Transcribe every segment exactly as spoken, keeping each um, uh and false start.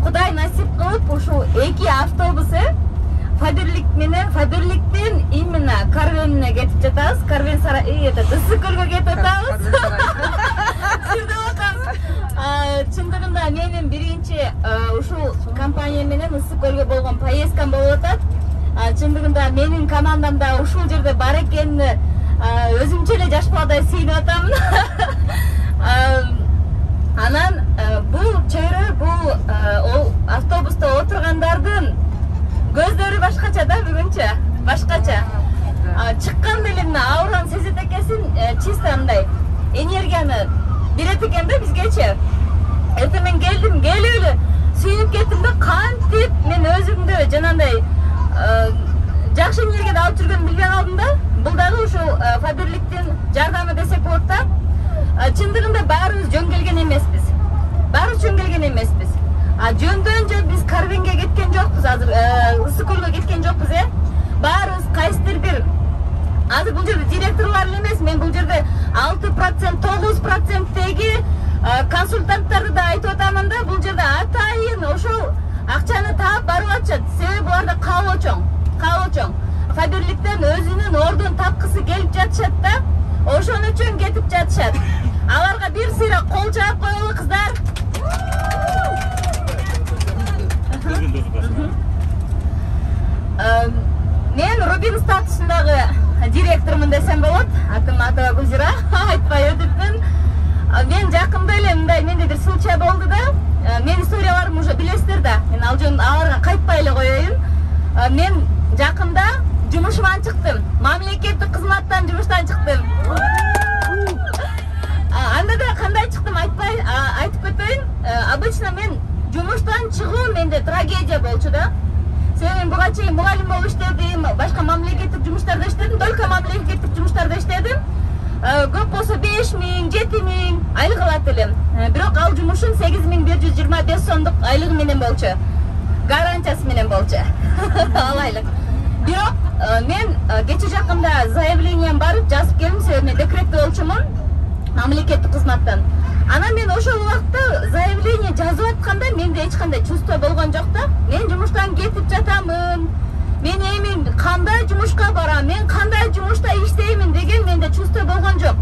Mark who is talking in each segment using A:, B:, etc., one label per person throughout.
A: Кудай насип кылып ушул эки автобус Фаберлик менен Фаберликтен именно Карвенге кетип жатабыз. Карвен сарай этот Ысык-Көлгө кетип жатабыз. Сизде отабыз. Чындыгында менин биринчи ушул компания менен Ысык-Көлгө болгон поездкам болуп атат. Чындыгында менин командамда ушул жерде бар экенин өзүмчө эле жаш баладай сыйынып атамын. Анан бул чөйрө, бул автобуста отургандардын көздөрү башкача да бүгүнчө, башкача. Чыкканда эле мына аураны сезет экенсиң, чисто андай энергияны берет экен да бизгечи. Эртең мен келдим, келип эле сүйүнүп кеттим да, кантип мен өзүмдү жанагындай жакшы энергияда алып жүргөнүмдү билбей калдым да. Бул дагы ушул Фаберликтин жардамы десек болот да. Чындыгында баарыбыз жөн келген эмеспиз. Баарыбыз жөн келген эмеспиз. А жөндөн жөн биз Карвенге кеткен жокпуз, азыр Ысык-Көлгө кеткен жокпуз, э. Баарыбыз кайсыдыр бир. Азыр бул жерде директорлор эле эмес, мен бул жерде алты процент, тогуз проценттеги консультанттарды да айтып атамын да, бул жерде атайын ошол акчаны таап барып атышат. Себеби буларда кабыл чоң, кабыл чоң. Фаберликтен өзүнүн ордун тапкысы келип жатышат да, ошон үчүн кетип жатышат. Аларга бир сыйра кол чаап коелу, кыздар. Мен Рубин статусундагы директормун десем болот. Атым Атаба Гүлзира, айтпай өтүпмүн. Мен жакында эле мындай менде бир случай болду да. Менин историяларымды уже билесиздер да. Мен ал жөн аларга кайтпай эле коеюн. Мен жакында жумушуман чыктым. Мамлекеттик кызматтан жумуштан чыктым. Анда да кандай чыктым айтпай, айтып кетейин. Обычно мен жумуштан чыгуу менде трагедия болчу да. Себеби буга чейин мугалим болуп иштедим, башка мамлекеттик жумуштарда иштедим, только мамлекеттик жумуштарда иштедим. Көп болсо беш миң, жети миң айлык алат элем. Бирок ал жумушум сегиз миң бир жүз жыйырма беш сомдук айлыгы менен болчу. Гарантиясы менен болчу. Ал айлык. Бирок мен кече жакында заявлением барып жазып келдим, себеби мен декретте болчумун мамлекеттик кызматтан. Анан мен ошол убакта заявление жазып атканда менде эч кандай чувство болгон жок да. Мен жумуштан кетип жатамын. Мен эми кандай жумушка барам, мен кандай жумушта иштеймин деген менде чувство болгон жок.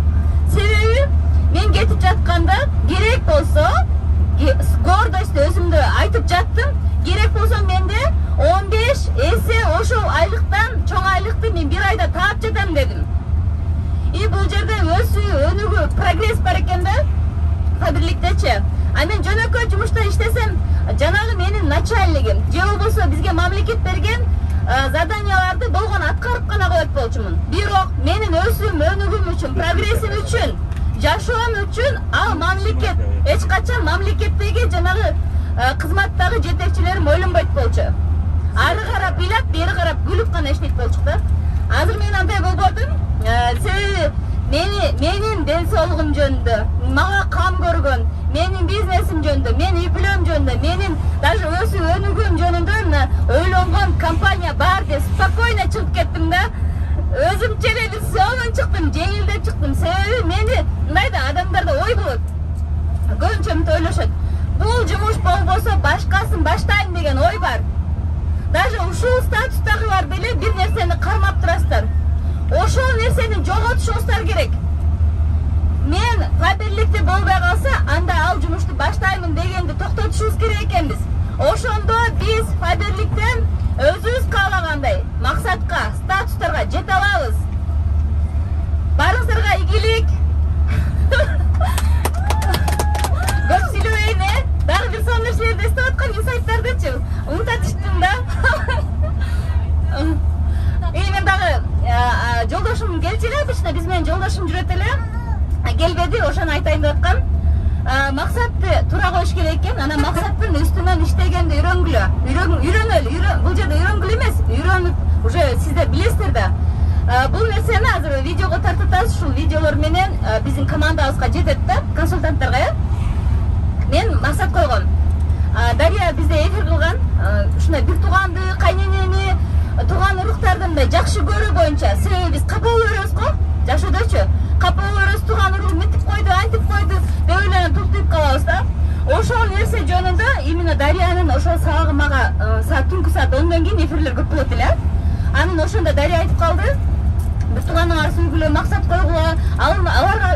A: Себеби мен кетип жатканда керек болсо, гордость өзүмдү айтып жаттым, керек болсо менде он беш эсе ошол айлыктан чоң айлыкты мен бир айда таап жатам дедим. И бул жерде өсүү, өнүгүү, прогресс бар экен да. Фаберликтечи. А мен жөнөкөй жумушта иштесем, жанагы менин начальнигим, же болбосо бизге мамлекет берген заданияларды болгон аткарып гана коет болчумун. Бирок менин өсүүм, өнүгүүм үчүн, прогрессим үчүн, жашоом үчүн ал мамлекет эч качан мамлекеттеги жанагы кызматтагы жетекчилерим ойлонбойт болчу. Ары карап ыйлап, бери карап күлүп гана иштейт болчук да. Азыр мен андай болбодум. Себеби мени менин ден соолугум жөнүндө, мага кам көргөн, менин бизнесим жөнүндө, менин үй бүлөм жөнүндө, менин даже өсүү өнүгүүм жөнүндө ойлонгон компания бар деп спокойно чыгып кеттим да. Өзүмчө эле сонун чыктым, жеңилдеп чыктым. Себеби мени мындай да адамдарда ой болот. Көбүнчө мынтип ойлошот. Бул жумуш болбосо башкасын баштайм деген ой бар. Даже ушул статустагылар деле бир нерсени кармап турасыздар. Ошол нерсени жоготушуңуздар керек. Мен Фаберликте болбой калса, анда ал жумушту баштаймын дегенди токтотушубуз керек экенбиз. Ошондо биз Фаберликтен өзүбүз каалагандай максатка, статустарга жете алабыз. Барыңыздарга ийгилик. Көп сүйлөбөйүн, э? Дагы бир сонун нерселерди эстеп аткан инсайттардычы. Унутат түштүм да. И мен дагы жолдошум келчү эле, обычно биз менен жолдошум жүрөт эле. Келбеди, ошону айтайын деп аткам. Максатты туура коюш керек экен. Анан максаттын үстүнөн иштегенди үйрөнгүлө. Үйрөнөлү, бул жерде үйрөнгүлө эмес, үйрөнүп уже сиздер билесиздер да. Бул нерсени азыр видеого тартып атабыз. Ушул видеолор менен биздин командабызга жетет да, консультанттарга, э? Мен максат койгом. Дарья бизде эфир кылган, ушундай бир тууганды, кайненени, тууган уруктарды мындай жакшы көрүү боюнча. Себеби биз капа боло беребиз го, жашоодочу. Капа боло беребиз, тууган урук мынтип койду, антип койду деп ойлонуп туктуп калабыз да. ошол нерсе жөнүндө именно Дариянын ошол сабагы мага саат түнкү саат ондон кийин эфирлер көп болот эле. Анын ошондо Дария айтып калды. Бир тууганыңар сүйлгүлө, максат койгула, аларга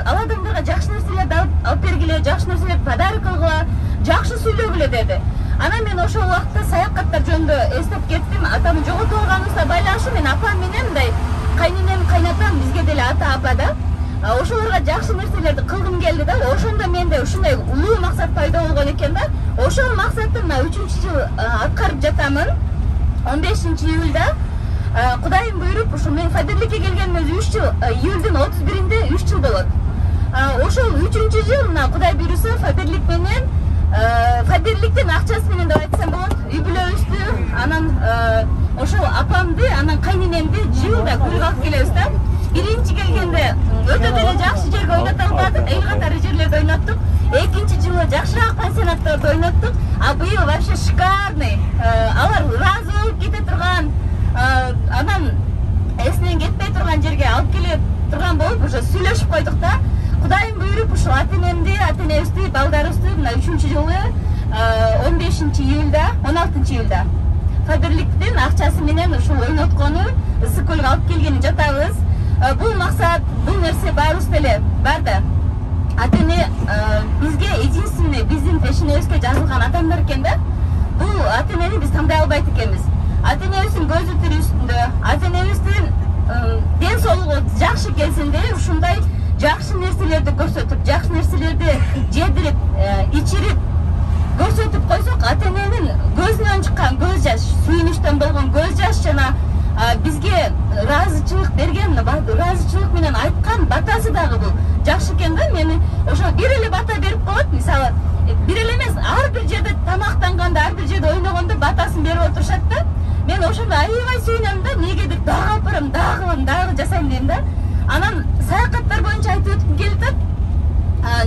A: ал адамдарга жакшы нерселерди алып бергиле, жакшы нерселерди подарок кылгыла, жакшы сүйлөгүлө деди. Анан мен ошол убакта саякаттар жөнүндө эстеп кеттим. Атамды жоготуп алганыбызга байланыштуу мен апам менен мындай кайненем, кайнатам бизге деле ата апа да. Ошолорго жакшы нерселерди кылгым келди да. Ошондо менде ушундай улуу максат пайда болгон экен да. Ошол максатты мына үчүнчү жыл аткарып жатамын. он бешинчи июлда Кудайым буйруп, ушул мен Фадирликке келгениме үч жыл, июлдун отуз биринде үч жыл болот. Ошол үчүнчү жыл мына Кудай буйруса Фадирлик менен Фадирликтин акчасы менен деп айтсам болот. Үй бүлөбүздү, анан ошол апамды, анан кайненемди жылда көрүп алып келебиз да. Биринчи келгенде өтө деле жакшы жерге ойното албадык, эл катары жерлерде ойноттук. Экинчи жылы жакшыраак пансионаттарда ойноттук. А быйыл вообще шикарный. Алар ыраазы болуп кете турган, анан эсинен кетпей турган жерге алып келе турган болуп уже сүйлөшүп койдук да. Кудайым буйруп ушул ата-энемди, ата-энебизди, балдарыбызды мына үчүнчү жылы он бешинчи июлда, он алтынчы июлда Фадирликтин акчасы менен ушул ойноткону ысык көлгө алып келгени жатабыз. Бул максат, бул нерсе баарыбыз деле бар да. Ата-эне бизге единственный биздин пешенебизге жазылган адамдар экен да. Бул ата-энени биз таңдай албайт экенбиз. Ата-энебиздин көзү тирүүсүндө, ата-энебиздин ден соолугу жакшы кезинде ушундай жакшы нерселерди көрсөтүп, жакшы нерселерди жедирип, ичирип көрсөтүп койсок, ата-эненин көзүнөн чыккан көз жаш, сүйүнүчтөн болгон көз жаш жана бизге ыраазычылык берген, ыраазычылык менен айткан батасы дагы бул жакшы экен да. Мени ошо бир эле бата берип коет, мисалы, бир эле эмес, ар бир жерде тамактанганда, ар бир жерде ойногондо батасын берип отурушат да. Мен ошондо аябай сүйүнөм да, эмнегедир дагы алып барам, дагы кылам, дагы жасайм дейм да. Анан саякаттар боюнча айтып өткүм келип атат.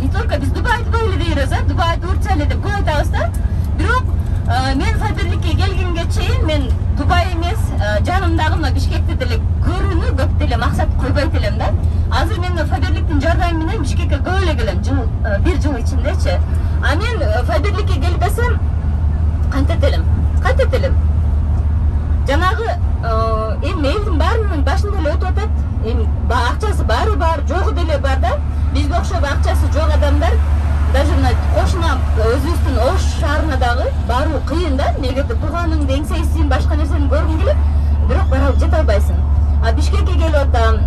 A: Не только биз Дубай, Дубай эле дейбиз, а Дубай, Турция эле деп көп айтабыз да. Бирок мен Фадирликке келгенге чейин мен Дубай эмес, жанымдагы мына Бишкекти деле көрүүнү көп деле максат койбойт элем да. Азыр мен Фадирликтин жардамы менен Бишкекке көп эле келем, жыл бир жыл ичиндечи. А мен Фадирликке келбесем кантет элем? Кантет элем? Жанагы эми элдин баарынын башында эле өтүп атат. Эми акчасы баары бар, жогу деле бар да. Бизге окшоп акчасы жок адамдар, даже мына кошуна өзүбүздүн Ош шаарына дагы баруу кыйын да. Негеде тууганыңды, эңсейсиң, башка нерсени көргүң келет, бирок бара жете албайсың. А Бишкекке келип атам.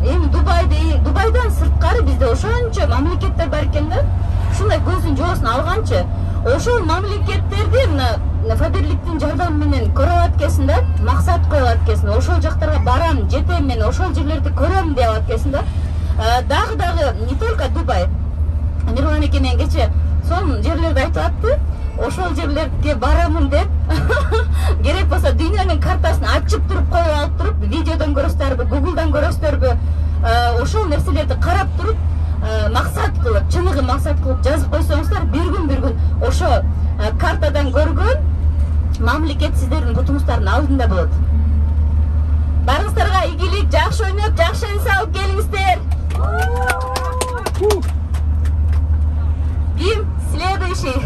A: Эми Дубайды, Дубайдан сырткары бизде ошончо мамлекеттер бар экен да. Ушундай көздүн жоосун алганчы, ошол мамлекеттерди мына Фадирликтин жардамы менен көрө алат экенсиң да, максат коюп алат экенсиң. Ошол жактарга барам, жетем мен, ошол жерлерди көрөм деп алат экенсиң да. Дагы дагы не только Дубай. Мирлан эке менен кече сонун жерлерди айтып атты. Ошол жерлерге барамын деп. Керек болсо дүйнөнүн картасын ачып туруп коюп алып туруп, видеодон көрөсүздарбы, Google'дан көрөсүздарбы, ошол нерселерди карап туруп, максат кылып, чыныгы максат кылып жазып койсоңуздар, бир күн бир күн ошо картадан көргөн мамлекет сиздердин бутуңуздардын алдында болот. Барыңыздарга ийгилик, жакшы ойноп, жакшы эс алып келиңиздер. Ким следующий?